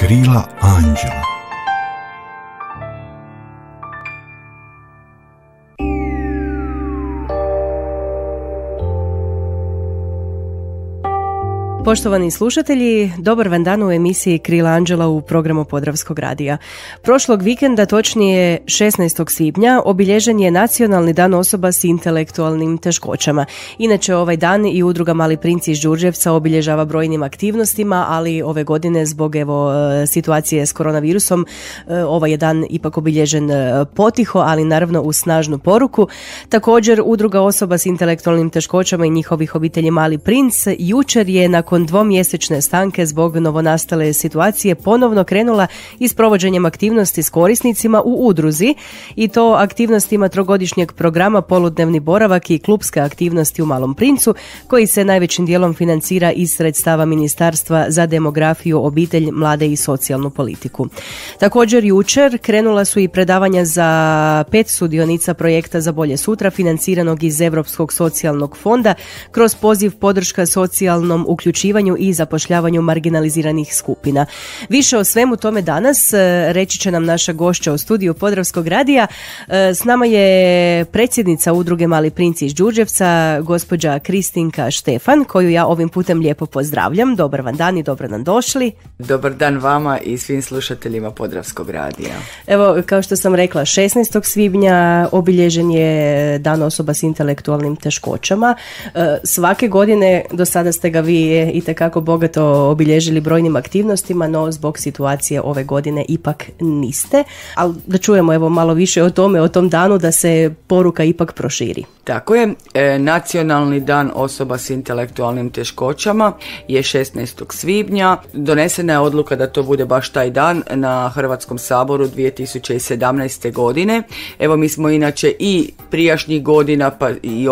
Krila anđela. Poštovani slušatelji, dobar vam dan u emisiji Krila anđela u programu Podravskog radija. Prošlog vikenda, točnije 16. svibnja, obilježen je Nacionalni dan osoba s intelektualnim teškoćama. Inače, ovaj dan i udruga Mali princ iz Đurđevca obilježava brojnim aktivnostima, ali ove godine zbog situacije s koronavirusom ovaj je dan ipak obilježen potiho, ali naravno uz snažnu poruku. Također, udruga osoba s intelektualnim teškoćama i njihovih obitelji Mali princ jučer je nakon dvomjesečne stanke zbog novonastale situacije ponovno krenula i s provođenjem aktivnosti s korisnicima u udruzi, i to aktivnostima trogodišnjeg programa Poludnevni boravak i klupske aktivnosti u Malom princu, koji se najvećim dijelom financira iz sredstava Ministarstva za demografiju, obitelj, mlade i socijalnu politiku. Također jučer krenula su i predavanja za 5 sudionica projekta Za bolje sutra, financiranog iz Europskog socijalnog fonda kroz poziv podrška socijalnom uključivanju i zapošljavanju marginaliziranih skupina. Više o svemu tome danas reći će nam naša gošća u studiju Podravskog radija. S nama je predsjednica udruge Mali princ iz Đurđevca, gospođa Kristinka Štefan, koju ja ovim putem lijepo pozdravljam. Dobar vam dan i dobro nam došli. Dobar dan vama i svim slušateljima Podravskog radija. Evo, kao što sam rekla, 16. svibnja obilježen je Dan osoba s intelektualnim teškoćama. Svake godine do sada ste ga vi itekako bogato obilježili brojnim aktivnostima, no zbog situacije ove godine ipak niste. Ali da čujemo evo malo više o tome, o tom danu, da se poruka ipak proširi. Tako je, Nacionalni dan osoba s intelektualnim teškoćama je 16. svibnja. Donesena je odluka da to bude baš taj dan na Hrvatskom saboru 2017. godine. Evo, mi smo inače i prijašnjih godina pa i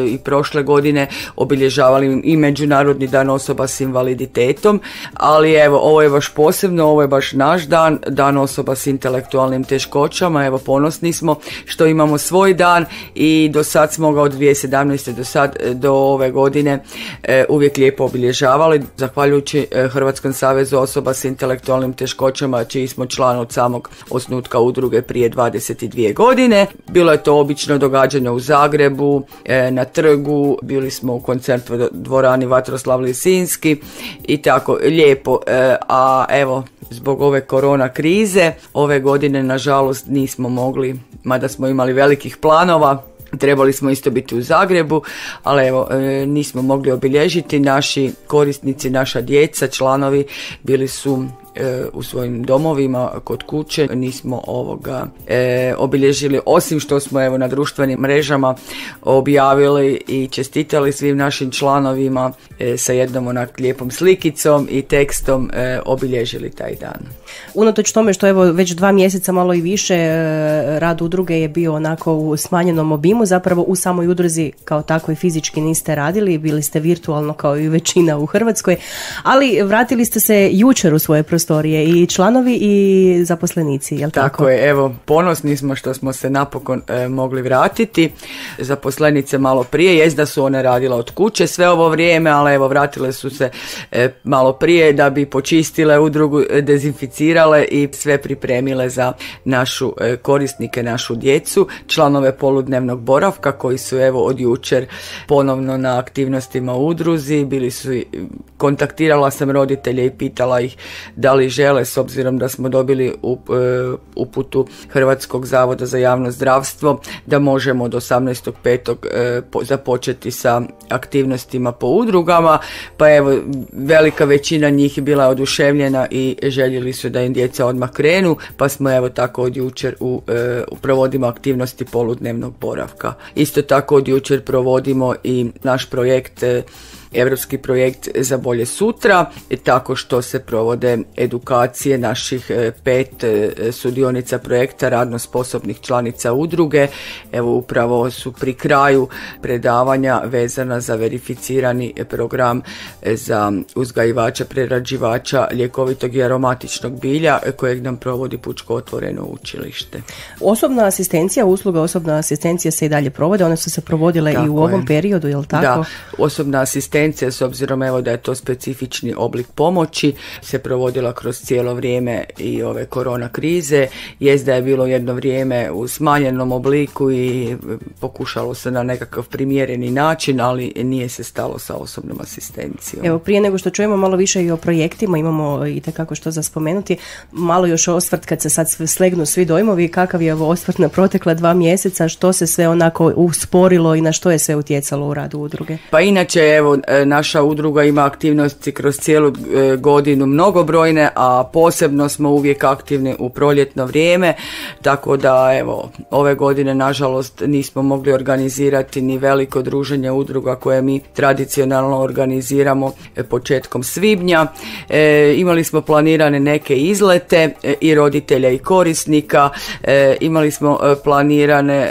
i prošle godine obilježavali i Međunarodni dan osoba s invaliditetom, ali evo, ovo je baš posebno, ovo je baš naš dan, dan osoba s intelektualnim teškoćama. Evo, ponosni smo što imamo svoj dan i do sad smo ga od 2017. do ove godine uvijek lijepo obilježavali, zahvaljujući Hrvatskom savezu osoba s intelektualnim teškoćama, čiji smo član od samog osnutka udruge prije 22 godine. Bilo je to obično događanje u Zagrebu, na trgu, bili smo u koncertnoj dvorani Vatroslav Lisinski i tako lijepo, a evo, zbog ove korona krize ove godine nažalost nismo mogli, mada smo imali velikih planova. Trebali smo isto biti u Zagrebu, ali evo, nismo mogli obilježiti. Naši korisnici, naša djeca, članovi bili su u svojim domovima, kod kuće. Nismo obilježili, osim što smo evo na društvenim mrežama objavili i čestitali svim našim članovima sa jednom onak lijepom slikicom i tekstom obilježili taj dan. Unatoč tome što evo već 2 mjeseca, malo i više, rad udruge je bio onako u smanjenom obimu, zapravo u samoj udruzi kao tako i fizički niste radili, bili ste virtualno kao i većina u Hrvatskoj, ali vratili ste se jučer u svoje prostorije, i članovi i zaposlenici, jel tako? Tako je, evo, ponosni smo što smo se napokon mogli vratiti. Zaposlenice malo prije, jest da su one radile od kuće sve ovo vrijeme, ali evo, vratile su se malo prije da bi počistile udrugu, dezinficirale i sve pripremile za našu korisnike, našu djecu, članove poludnevnog boravka koji su evo od jučer ponovno na aktivnostima u udruzi. Bili su, kontaktirala sam roditelje i pitala ih da li žele, s obzirom da smo dobili uputu Hrvatskog zavoda za javno zdravstvo da možemo od 18.5. započeti sa aktivnostima po udrugama, pa evo, velika većina njih bila je oduševljena i željeli su da im djeca odmah krenu, pa smo evo tako od jučer provodimo aktivnosti poludnevnog boravka. Isto tako od jučer provodimo i naš projekt, Europski projekt Za bolje sutra, tako što se provode edukacije naših 5 sudionica projekta radno sposobnih članica udruge. Evo, upravo su pri kraju predavanja vezana za verificirani program za uzgajivača, prerađivača ljekovitog i aromatičnog bilja kojeg nam provodi Pučko otvoreno učilište. Osobna asistencija, usluga osobna asistencija se i dalje provode, one su se provodile tako i u ovom periodu, je li tako? Da, osobna asistencija asistencija, s obzirom evo da je to specifični oblik pomoći, se provodila kroz cijelo vrijeme i ove korona krize. Jest da je bilo jedno vrijeme u smanjenom obliku i pokušalo se na nekakav primjereni način, ali nije se stalo sa osobnom asistencijom. Evo, prije nego što čujemo malo više i o projektima, imamo itekako što za spomenuti, malo još osvrt kad se sad slegnu svi dojmovi, kakav je osvrt na protekla 2 mjeseca, što se sve onako usporilo i na što je sve utjecalo u radu udruge? Pa inače, evo, naša udruga ima aktivnosti kroz cijelu godinu mnogobrojne, a posebno smo uvijek aktivni u proljetno vrijeme, tako da evo, ove godine nažalost nismo mogli organizirati ni veliko druženje udruga koje mi tradicionalno organiziramo početkom svibnja. Imali smo planirane neke izlete i roditelja i korisnika, imali smo planirane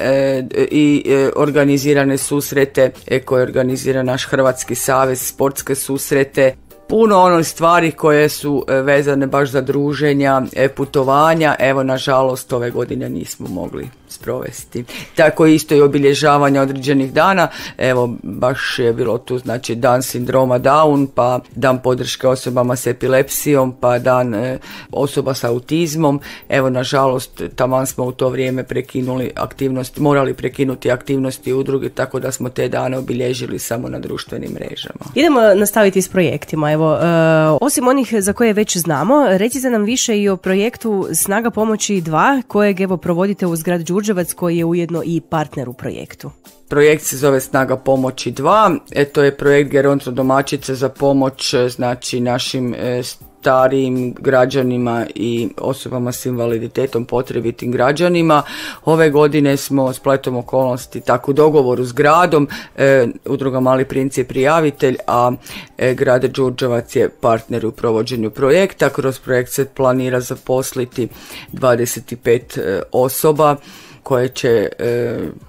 i organizirane susrete koje organizira naš Hrvatski savez, sportske susrete. Puno onih stvari koje su vezane baš za druženja, putovanja, evo nažalost ove godine nismo mogli sprovesti. Tako isto i obilježavanje određenih dana, evo baš je bilo tu znači dan sindroma Down, pa dan podrške osobama s epilepsijom, pa dan osoba s autizmom. Evo nažalost taman smo u to vrijeme prekinuli aktivnosti, morali prekinuti aktivnosti udruge, tako da smo te dane obilježili samo na društvenim mrežama. Idemo nastaviti s projektima. Evo, osim onih za koje već znamo, recite nam više i o projektu Snaga pomoći 2, kojeg evo provodite uz grad Đurđevac, koji je ujedno i partner u projektu. Projekt se zove Snaga pomoći 2, to je projekt Geronto domaćice za pomoć znači našim starijim građanima i osobama s invaliditetom, potrebitim građanima. Ove godine smo spletom okolnosti tako u dogovoru s gradom, udruga Mali princ je prijavitelj, a grad Đurđevac je partner u provođenju projekta. Kroz projekt se planira zaposliti 25 osoba koje će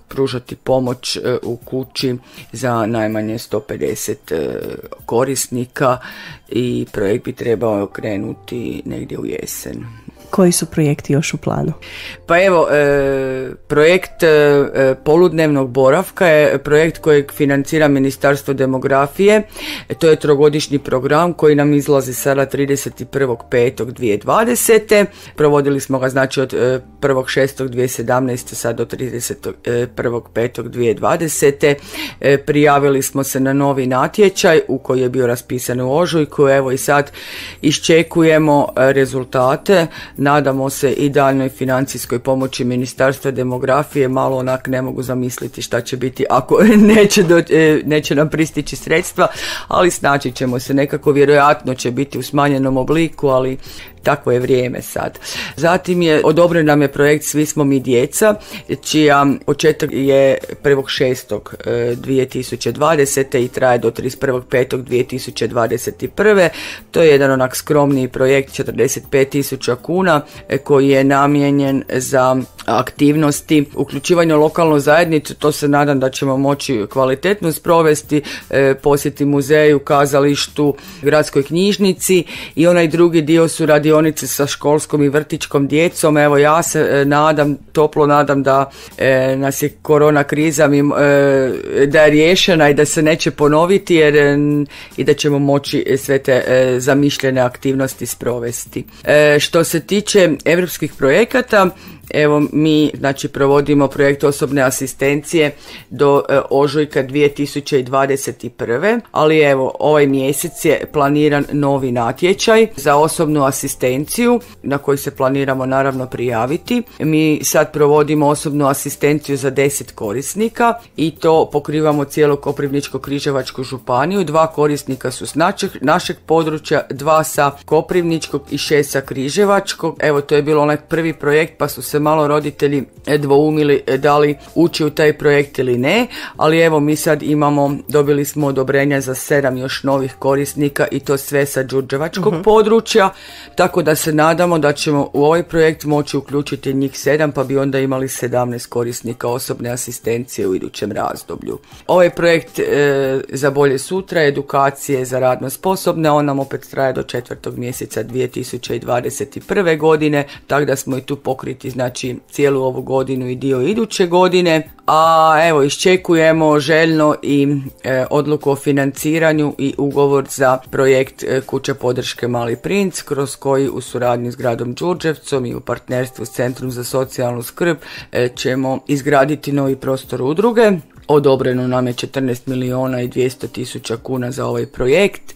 pružati pomoć u kući za najmanje 150 korisnika i projekt bi trebao krenuti negdje u jesen. Koji su projekti još u planu? Pa evo, projekt poludnevnog boravka je projekt kojeg financira Ministarstvo demografije. To je 3-godišnji program koji nam izlazi sada 31.5.2020. Provodili smo ga znači od 1.6.2017. sad do 31.5.2020. Prijavili smo se na novi natječaj u koji je bio raspisan u ožujku. Evo i sad iščekujemo rezultate. Nadamo se i daljnoj financijskoj pomoći Ministarstva demografije. Malo onak ne mogu zamisliti šta će biti ako neće nam pristići sredstva, ali snaći ćemo se nekako, vjerojatno će biti u smanjenom obliku, ali takvo je vrijeme sad. Zatim je odobren nam je projekt Svi smo mi djeca, čija početak je 1.6.2020. i traje do 31.5.2021. To je jedan onak skromniji projekt, 45.000 kuna, koji je namijenjen za aktivnosti uključivanja u lokalnu zajednicu. To se nadam da ćemo moći kvalitetno sprovesti, posjeti muzeju, kazalištu, gradskoj knjižnici, i onaj drugi dio su radionice sa školskom i vrtićkom djecom. Evo ja se nadam, toplo nadam da nas je korona kriza da je riješena i da se neće ponoviti, jer i da ćemo moći sve te zamišljene aktivnosti sprovesti. Što se tiče europskih projekata, evo mi znači provodimo projekt osobne asistencije do ožujka 2021. Ali evo ovaj mjesec je planiran novi natječaj za osobnu asistenciju na koji se planiramo naravno prijaviti. Mi sad provodimo osobnu asistenciju za 10 korisnika i to pokrivamo cijelu Koprivničko-križevačku županiju. 2 korisnika su s našeg područja, 2 sa Koprivničkog i 6 sa Križevačkog. Evo to je bilo onaj prvi projekt pa su se malo roditelji dvoumili da li ući u taj projekt ili ne, ali evo mi sad dobili smo odobrenja za 7 još novih korisnika i to sve sa đurđevačkog područja, tako da se nadamo da ćemo u ovaj projekt moći uključiti njih 7 pa bi onda imali 17 korisnika osobne asistencije u idućem razdoblju. Ovaj projekt za bolje sutra, edukacije za radno sposobne, on nam opet traje do 4. mjeseca 2021. godine, tako da smo i tu pokriti znači znači cijelu ovu godinu i dio iduće godine. A evo, iščekujemo željno i odluku o financiranju i ugovor za projekt Kuća podrške Mali princ, kroz koji u suradnji s gradom Đurđevcom i u partnerstvu s Centrom za socijalnu skrb ćemo izgraditi novi prostor udruge. Odobreno nam je 14 milijuna i 200 tisuća kuna za ovaj projekt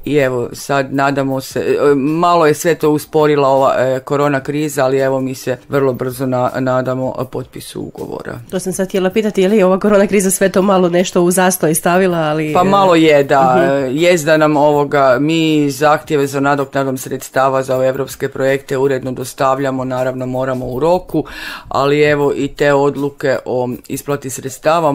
i evo sad nadamo se, malo je sve to usporila ova korona kriza, ali evo mi se vrlo brzo nadamo potpisu ugovora. To sam sad htjela pitati, je li ova korona kriza sve to malo nešto u zastoj stavila, ali... Pa malo je, da. Jest da nam mi zahtjeve za nadoknadom sredstava za ove evropske projekte uredno dostavljamo, naravno moramo u roku, ali evo i te odluke o isplati sredstava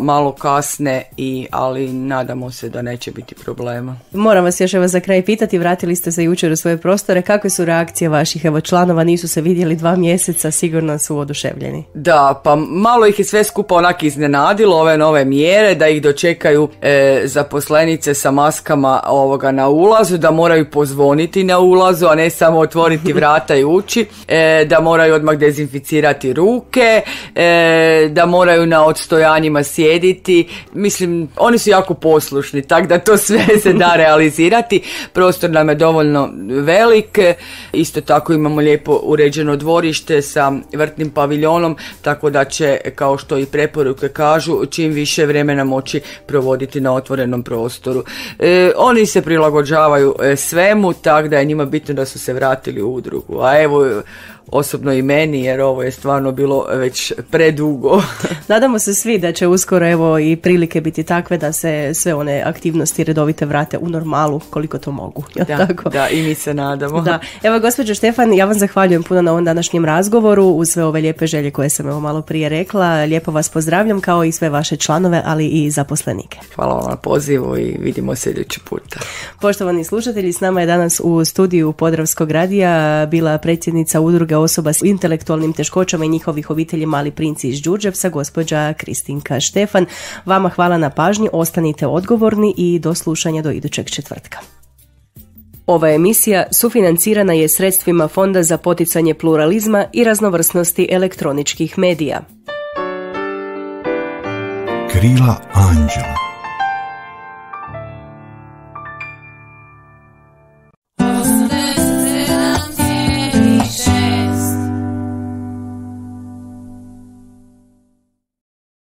malo kasne, ali nadamo se da neće biti problema. Moram vas još za kraj pitati, vratili ste se jučer u svoje prostore, kakve su reakcije vaših članova, nisu se vidjeli 2 mjeseca, sigurno su oduševljeni. Da, pa malo ih je sve skupa onak iznenadilo, ove nove mjere, da ih dočekaju zaposlenice sa maskama na ulazu, da moraju pozvoniti na ulazu, a ne samo otvoriti vrata i ući, da moraju odmah dezinficirati ruke, da moraju na odstojanjima sjediti. Mislim, oni su jako poslušni, tako da to sve se da realizirati. Prostor nam je dovoljno velik, isto tako imamo lijepo uređeno dvorište sa vrtnim paviljonom, tako da će, kao što i preporuke kažu, čim više vremena moći provoditi na otvorenom prostoru. Oni se prilagođavaju svemu, tako da je njima bitno da su se vratili u udrugu. A evo, osobno i meni, jer ovo je stvarno bilo već predugo. Nadamo se svi da će uskoro evo i prilike biti takve da se sve one aktivnosti redovite vrate u normalu koliko to mogu. Da, i mi se nadamo. Da. Evo, gospođo Štefan, ja vam zahvaljujem puno na ovom današnjem razgovoru uz sve ove lijepe želje koje sam evo malo prije rekla. Lijepo vas pozdravljam kao i sve vaše članove, ali i zaposlenike. Hvala vam na pozivu i vidimo se idući puta. Poštovani slušatelji, s nama je danas u studiju Podravskog radija bila predsjednica udruge osoba s intelektualnim teškoćama i njihovih obitelji Mali princ iz Đurđevca, gospođa Kristinka Štefan. Vama hvala na pažnji, ostanite odgovorni i do slušanja do idućeg četvrtka. Ova emisija sufinancirana je sredstvima Fonda za poticanje pluralizma i raznovrsnosti elektroničkih medija. Krila anđela.